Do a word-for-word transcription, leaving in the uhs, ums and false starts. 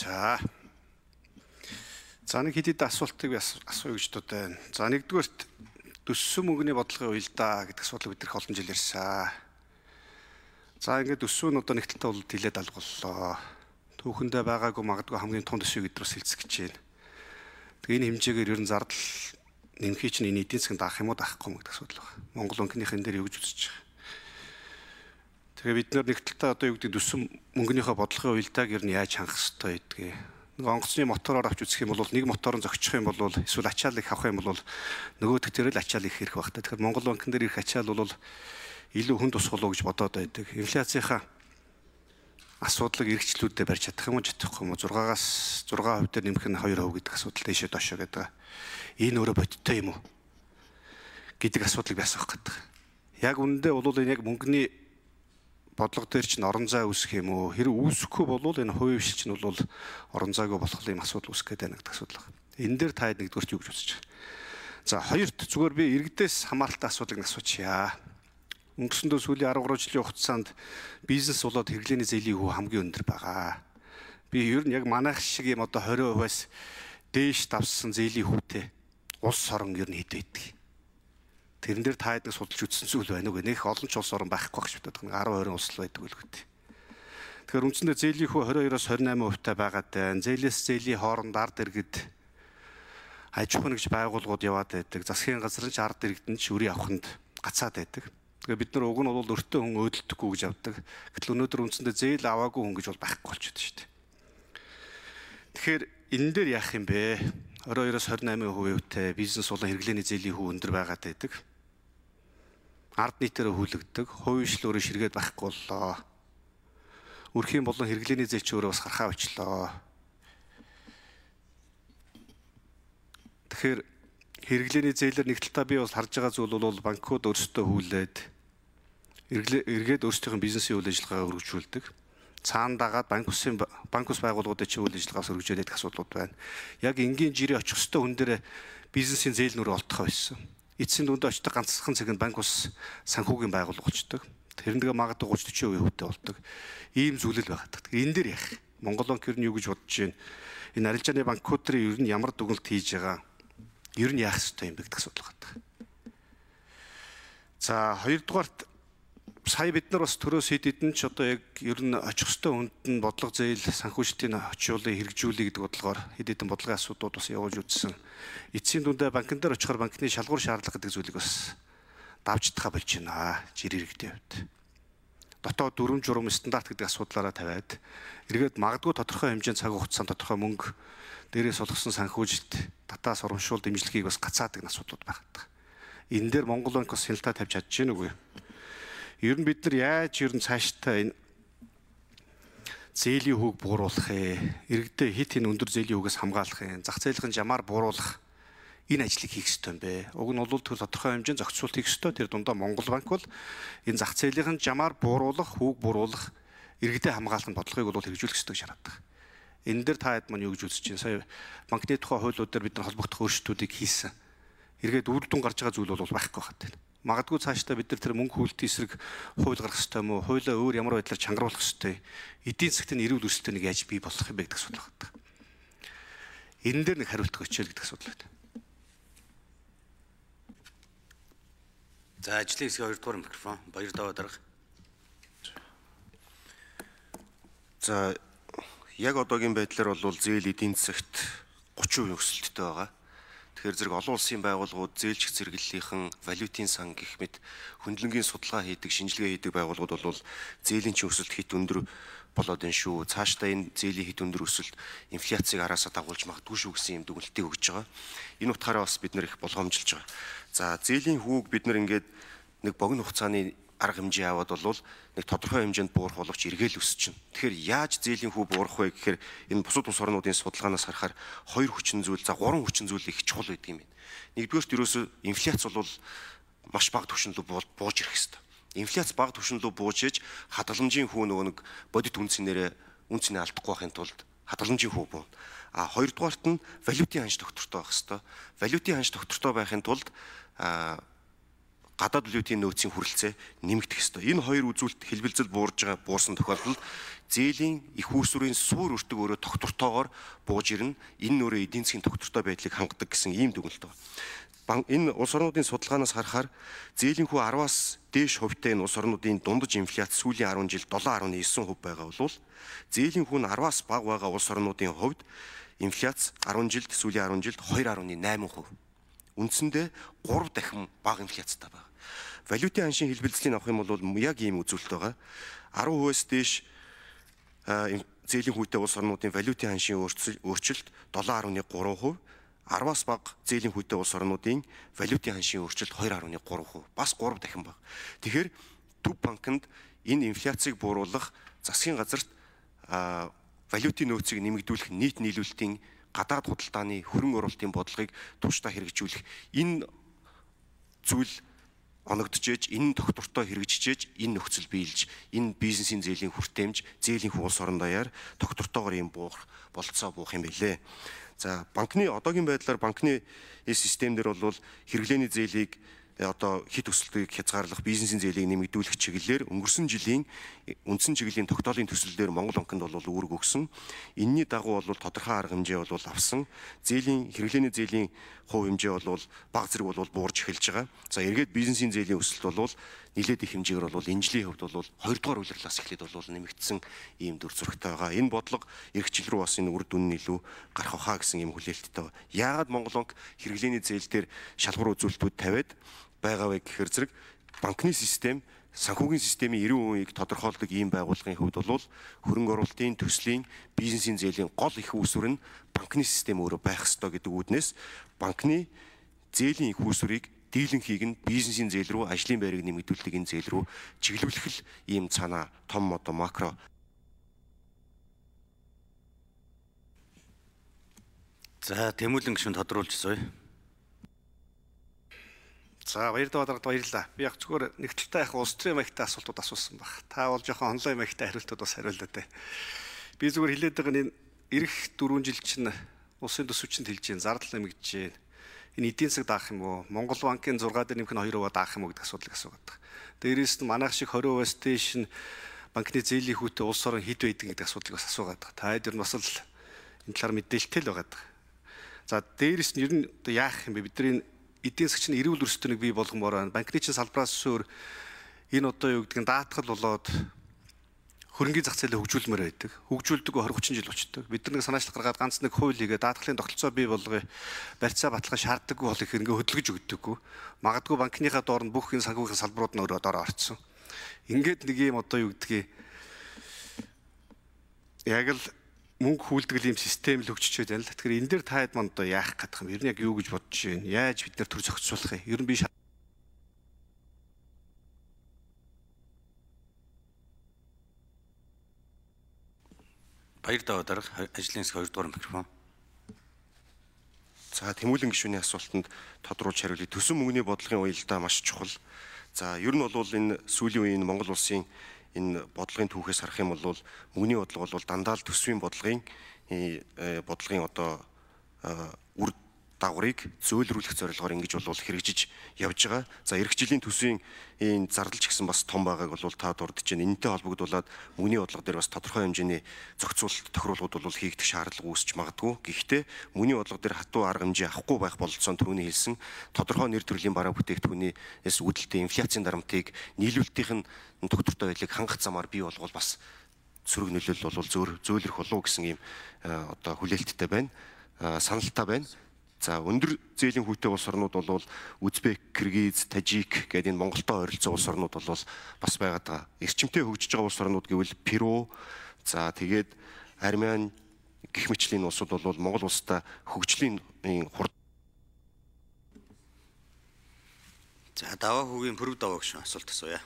За. За нэг хэдийд асуултыг асууя гэж бодож байна. За нэгдүгээрт төссөн мөнгөний бодлогын уялдаа гэдэг асуудал бид нэр олон жил ярьсан. За ингээд төссөн нь одоо нэг талтай бол тэлээд алгууллаа. Түүхэндээ байгаагүй магадгүй хамгийн том төсвийг эдрээс хэлцэх гэж байна. Тэгээ энэ хэмжээгээр ер нь зардал нэмхий чинь энэ эдийн засгийн даах юм уу даахгүй гэдэг асуудал байна. Монгол банкныхын дээр юу гэж үзэж байгаа. Тэгээ бид нар нэг талтай одоо юу гэдэг төссөн мөнгөнийхөө бодлогын уялдааг ер нь яаж хангах ёстой гэдгийг. Нэг онгоцны мотороор авч үзэх юм бол нэг моторын зөгчих юм бол эсвэл ачаал их авах юм бол нөгөөдөх дээр л ачаал их ирэх багтаа. Тэгэхээр Монгол банкн дээр ирэх ачаал бол илүү хүн тусгал уу гэж бодоод байдаг. Инфляцийнхаа асуудлыг эргчлүүддээ барьж чадах юм уу чадахгүй юм уу зургаагаас зураг хувь дээр нэмэх нь хоёр хувь гэдэг асуудал дэшээ доошоо гэдэг. Энэ өөрөө бодиттой юм уу гэдэг асуудлыг би асуух гэдэг. Яг үнэндээ бол энэ яг мөнгөний бодлого дээр чинь орон зай үүсэх юм уу? Хэрэг үүсэхгүй бол энэ хувийн хвшил чинь бол орон зайгүй болох юм асуудал үүсэх гээд байна гэдэг асуудал байна. Энэ дээр та хэд нэгдүгээрт юу гэж үзэж байна? За хоёрт зүгээр би иргэдээс хамааралтай асуудлыг асуучъя. Өнгөрсөндөө сүүлийн арав гаруй жилийн хугацаанд бизнес болоод хэрэглээний зээлийн хүү хамгийн өндөр байгаа. Би ер нь яг манайх шиг юм одоо двадцать хувиас дээш давсан зээлийн хүүтэй улс орон ер нь хэд байдаг. Тэрэн дээр та хэд нэг судалж үзсэн зүйл байна уу? Нэх олон ч улс орон байхгүй байх шүтээд нэг арав хоёр улс л байдаг л гэдэг. Тэгэхээр үндсэндээ зээлийн хүү двадцать two-оос двадцать eight хувьтай байгаад байна. Зээлээс зээлийн хооронд ард иргэд аж ахуйн нэгж байгууллагууд яваад байдаг. Засгийн газар нь ч ард иргэдэнд ч үрийн авахнд гацаад байдаг. Тэгэхээр бид нар уг нь бол өртөө хүн өөдөлдөхгүй гэж авдаг. Гэтэл өнөөдөр үндсэндээ зээл аваагүй хүн гэж бол байхгүй болчиход шүү дээ. Тэгэхээр энэ дээр яах юм бэ? двадцать two-оос двадцать eight хувитэй бизнес болон хэрэглээний зээлийн хүү өндөр байгаад байдаг. Ард нийтээр хүлэгдэг, хувийн хвшил өөрөө ширгээд байхгүй боллоо. Үрхийн болон хэрэглээний зээл ч өөрөө бас харахаа очлоо. Тэгэхээр хэрэглээний зээлээр нэг талаа би бас харж байгаа зүйл бол банкуд өөрсдөө хүлээд эргээд өөрсдийнх нь бизнесийн үйл ажиллагаа өргөжүүлдэг. Цаана дагаад банк усын банк ус байгууллагуудад чи үйл ажиллагаас өргөжүүлээд асуудлууд байна. Яг энгийн жирийн очих хөстөө хүн дээр бизнесийн зээл нүрээ олдох байсан. Эцсийн дүндээ очдог ганцхан цагт банк ус санхүүгийн байгууллага болчдөг. Тэрнээ магадгүй thirty forty хувитай болдог. Ийм зүйлэл байгаа. Энэ дээр яах? Монгол банк ер нь юу гэж бодож байна? Энэ арилжааны банкуд дээр ер нь ямар дүгнэлт хийж байгаа? Ер нь яах ёстой юм бэ гэдэг асуудал байна. За хоёрдугаарт сая бид нар бас төрөөс хэд хэдэн ч одоо яг ер нь очих хөстөө хүнд нь бодлого зээл санхүүжилтийн очиулыг хэрэгжүүлэх гэдэг бодлогоор хэд хэдэн бодлогын асуудлууд бас явуулж үзсэн. Эцсийн дүндээ банкн дээр очихоор банкны шалгуур шаардлага гэдэг зүйлийг бас давж тахаа болж байна. Жир иргэдийн хувьд. Дотоод дүрм журам стандарт гэдэг асуудлаараа тавиад эргээд магадгүй тодорхой хэмжээнд цаг хугацаанд тодорхой мөнгө дээрээс олгосон санхүүжилт татаас урамшуул дэмжлэгийг бас гацаадаг асуудлууд байгаа. Энэ дээр Монгол банк бас хяналтаа тавьж чадж гэнэ үгүй. Ер нь бид нар яаж ер нь цаашдаа энэ зээлийн хүүг бууруулах ээ, иргэдээ хит хин өндөр зээлийн хүүгээс хамгаалах ээ, зах зээлийн жамаар бууруулах энэ ажлыг хийх ёстой юм бэ. Уг нь бол тэр тодорхой хэмжээнд зохицуулт хийх ёстой. Тэр дундаа Монгол банк бол энэ зах зээлийн жамаар бууруулах, хүүг бууруулах, иргэдээ хамгаалах бодлогыг бол хэрэгжүүлэх ёстой гэж хараад байна. Энэ дээр та хэд маань юу гэж үзэж байна? Сая банкны тухай хуулиуд дээр бид нар холбогдох өөрчлөлтүүдийг хийсэн. Эргээд үр дүн гарч байгаа зүйл бол байхгүй байна. Магадгүй цаашдаа бид нар тэр мөнгө хүлтийн эсрэг хууль гаргах ёстой юм уу? Хуулиа өөр ямар байдлаар чангаруулах ёстой? Эдийн засгийн эрүүл өсөлтөнд нэг яаж бий болох юм бэ гэдэг асуудал байна. Энэ дээр нэг хариулт өгчээл гэдэг асуудал байна. За ажлын хэсгийн хоёрдугаар микрофон Баяр Даваа дарга. За яг одоогийн байдлаар бол зээл эдийн засагт thirty percent өсөлттэй байгаа. Тэгэхээр зэрэг олон улсын байгууллагууд зээлч зэрэглэлийнхэн валютын сан гэх мэт хөндлөнгийн судалгаа хийдэг, шинжилгээ хийдэг байгууллагууд бол зээлийн чинь өсөлт хит өндөр болоод энэ шүү. Цаашдаа энэ зээлийн хит өндөр өсөлт инфляцийг араасаа дагуулж магадгүй шүү гэсэн юм дүгнэлтийг өгж байгаа. Энэ утгаараа бас бид нэр их болгоомжилж байгаа. За зээлийн хүүг бид нар ингээд нэг богино хугацааны арга хэмжээ аваад бол нэг тодорхой хэмжээнд буурах боловч эргээл өсчихнө. Тэгэхээр яаж зээлийн хүү буурах вэ гэхээр энэ бусад улс орнуудын судалгаанаас харахаар хоёр хүчин зүйл, за гурван хүчин зүйл их чухал байдаг юм байна. Нэгдүгээрт ерөөсөө инфляц бол маш бага түвшинд рүү бууж ирэх хэрэгтэй. Инфляц бага түвшинд рүү бууж иж хадгаламжийн хүү нөгөө нэг бодит үнцнэрээ үнцний алдахгүй байхын тулд хадгаламжийн хүү буун. А хоёрдугаарт нь валютын ханш доктортой байх хэрэгтэй. Валютын ханш доктортой байхын тулд гадаад валютын нөөцийн хүрэлцээ нэмэгдэх ёстой. Энэ хоёр үзүүлэлт хэлбэлзэл буурж байгаа буурсан тохиолдолд зээлийн их үүсвэрийн суур өртөг өөрөө тогтвортойгоор бууж ирнэ. Энэ нь өөрөө эдийн засгийн тогтвортой байдлыг хангадаг гэсэн ийм дүгнэлт байна. Энэ улс орнуудын судалгаанаас харахаар зээлийн хүү арваас дээш хувьтай энэ улс орнуудын дундаж инфляц сүүлийн арван жилд долоон гаруй девять хувь байгаа бол зээлийн хүү нь арваас бага байгаа улс орнуудын хувьд инфляц арван жилд сүүлийн арван жилд хоёр гаруй найман хувь. Үндсэндээ гурав дахин бага инфляцтай байна. Валютын аншийн хэлбэлзлийг авах юм бол яг ийм үзүүлэлт байгаа. арван хувиас дээш зээлийн хүүтэй улс орнуудын валютын аншийн өөрчлөлт долоон гаруй гурван хувь, арваас бага зээлийн хүүтэй улс орнуудын валютын аншийн өөрчлөлт хоёр гаруй гурван хувь, бас гурав дахин бага. Тэгэхээр Төв банкнд энэ инфляцийг бууруулах засгийн газарт валютын нөөцийг нэмэгдүүлэх нийт нийлүүлэлтийн гадаад худалдааны хөрөнгө оруулалтын бодлогыг тууштай хэрэгжүүлэх энэ зүйл оногдчихэж, энэ тогтвортой хэрэгжижээж, энэ нөхцөл биелж, энэ бизнесийн зээлийн хүртээмж, зээлийн улс орон даяар тогтвортойгоор юм буух болцоо буух юм билээ. За банкны одоогийн байдлаар банкны систем дээр бол хэрэглээний зээлийг одоо хит өсөлтийг хязгаарлах, бизнесийн зээлийг нэмэгдүүлэх чиглэлээр өнгөрсөн жилийн үндсэн чиглэлийн тогтоолын төсөл дээр Монгол банкнд бол үүрэг өгсөн. Энийний дагуу бол тодорхой арга хэмжээ бол авсан. Зээлийн хэрэглээний зээлийн хувь хэмжээ бол бага зэрэг бол буурж эхэлж байгаа. За эргээд бизнесийн зээлийн өсөлт бол нэлээд их хэмжээгээр бол энэ жилийн хувьд бол хоёрдугаар улирлаас эхлээд бол нэмэгдсэн ийм дүр зурагтай байгаа. Энэ бодлого эх жил рүү бас энэ үр дүн нь илүү гарах хаа гэсэн ийм хүлээлттэй байна. Яагаад Монгол банк хэрэглээний зээл дээр шалгуур үзүүлэлтүүд тавиад байгаа вэ гэхээр зэрэг банкны систем, санхүүгийн системийн эрүүн үеийг тодорхойлдог ийм байгууллагын хувьд бол хөрөнгө оруулалтын төслийн бизнесийн зээлийн гол их үүсвэр нь банкны систем өөрөө байх ёстой гэдэг үүднээс банкны зээлийн их үүсвэрийг дийлэнхийг нь бизнесийн зээл рүү, ажлын байрыг нэмэгдүүлдэг энэ зээл рүү чиглүүлэх л ийм цаана том одоо макро. За Тэмүүлэн гишүүн тодруулж сууя. За баяр даваад баярлалаа. Би яг зүгээр нэгдэлтэй яг улс төрийн маягтай асуултууд асуусан баг. Та бол жоохон онлайн маягтай хариултууд бас хариуллаа дээ. Би зүгээр хэлээд байгаа нь энэ эх дөрвөн жил чинь улсын төсөвчөнд хэлж гин зардал нэмэгдэж гин. Энэ эдийн засаг даах юм уу? Монгол банкын зургаа дээр нэмэх нь хоёр хувиар даах юм уу гэдэг асуудлыг асуугаад байгаа. Дээрээс нь манайх шиг тwenty хувиас дээш нь банкны зээлийн хүүтэй улс орон хэд байдаг гэдэг асуудлыг бас асуугаад байгаа. Та хэд нь бас л энэ талаар мэдээлэлтэй л байгаа. За дээрээс нь ер нь яах юм бэ? Бидний эдийн засгийн эрүүл өрсөлдөөнийг бий болгомоор байна. Банкны чин салбараас өөр энэ одоо юу гэдэг нь даатгал болоод хөрөнгөний зах зээлээ хөгжүүлмээр байдаг. Хөгжүүлдэг twenty thirty жил болчтой. Бид нар нэг санаачлах гаргаад ганц нэг хууль хийгээ даатгалын тогтолцоо бий болгоё. Барьцаа баталгаа шаарддаггүй бол их ингээ хөдөлгөж өгдөггүй. Магадгүй банкныхаа доор нь бүх энэ санхүүгийн салбарууд нь өөрөө доор орцсон. Ингээд нэг юм одоо юу гэдгийг яг л мөнгө хүлдгэл юм систем л хөгжиж байна л. Тэгэхээр энэ дээр та хэд манд одоо яах гэдэг юм? Ер нь яг юу гэж бодож байна? Яаж бид нар төр зохицуулах юм? Ер нь би Баяр даваа дарга ажлын хэсэг хоёр дугаар микрофон. За Тэмүүлэн гишүүний асуултанд тодруулж хариулъя. Төсөн мөнгөний бодлогын уялдаа маш чухал. За ер нь бол энэ сүүлийн үеийн Монгол улсын энэ бодлогын түүхээс харах юм бол мөнгөний бодлого бол дандаа л төсвийн бодлогын бодлогын одоо үр дагаврыг зөөлрүүлэх зорилгоор ингэж бол хэрэгжиж явж байгаа. За эх жилийн төсвийн энэ зардалч гэсэн бас том байгааг бол та дурдж байна. Энэтэй холбогдуулаад мөнгөний бодлого дээр бас тодорхой хэмжээний зохицуулалт тохируулгууд бол хийгдэх шаардлага үүсч магадгүй. Гэхдээ мөнгөний бодлого дээр хатуу арга хэмжээ авахгүй байх бололцоо түрүүний хэлсэн тодорхой нэр төрлийн бараа бүтээгдэхүүнээс үүдэлтэй инфляцийн дарамтыг нийлүүлэлтийн тогтвортой байдлыг хангах замаар бий болгол бас сөрөг нөлөөлөл бол зөөр зөөлрөх болов гэсэн ийм одоо хүлээлттэй байна. Саналтай байна. За өндөр зээлийн хүүтэй улс орнууд бол Узбек, Киргиз, Тажик гэдэг энэ Монголтой ойролцоо улс орнууд бол бас байгаад байгаа. Эрчимтэй хөгжиж байгаа улс орнууд гэвэл Перу, за тэгээд Армян гэх мэтлийн улсууд бол Монгол улстай хөгжлийн хурд. За даваа хүүгийн пүрэв даваа гişүн асуулт асууя.